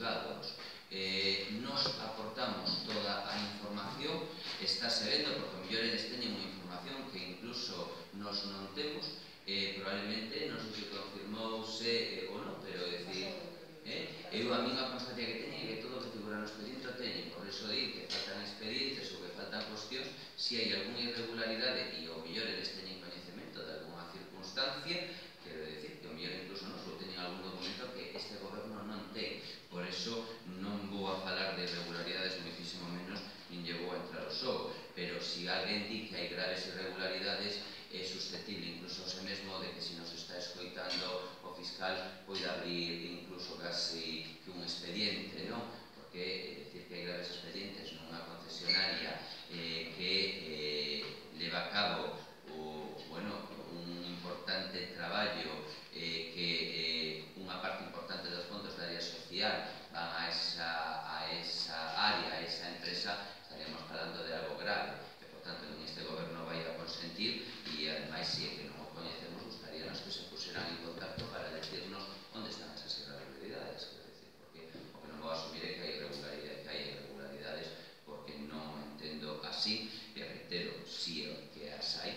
xulgados nos aportamos toda a información, estáse vendo, porque o mellor eles teñen unha información que incluso nos non temos, probablemente non sei se confirmouse ou non, pero decir, eu a minha constancia que teño é que todo o que figura no expediente o teñen, por iso di que faltan expedientes ou que faltan cuestións, se hai algunha irregularidade e o mellor eles teñen coñecemento de alguna circunstancia, quero decir que o mellor incluso non só teñen algún documento que este goberno non ten, por iso non vou a falar de irregularidades, moitísimo menos, nin lle vou a entrar ao xogo, pero se alguén di que hai graves irregularidades, é susceptible incluso se mesmo de que se nos está escoitando o fiscal poida abrir incluso casi que un expediente, non? Porque decir que hai graves expedientes nunha concesionaria que leva a cabo un importante traballo que unha parte importante dos fondos da área social van a esa área, a esa empresa, estaríamos falando de algo grave, que por tanto en este goberno vai a consentir e ademais se é que non o coñecemos gustaríanos que se puseran en contacto para decirnos onde están esas irregularidades, porque o que non vou asumir é que hai irregularidades porque non entendo así, e reitero, si é que as hai,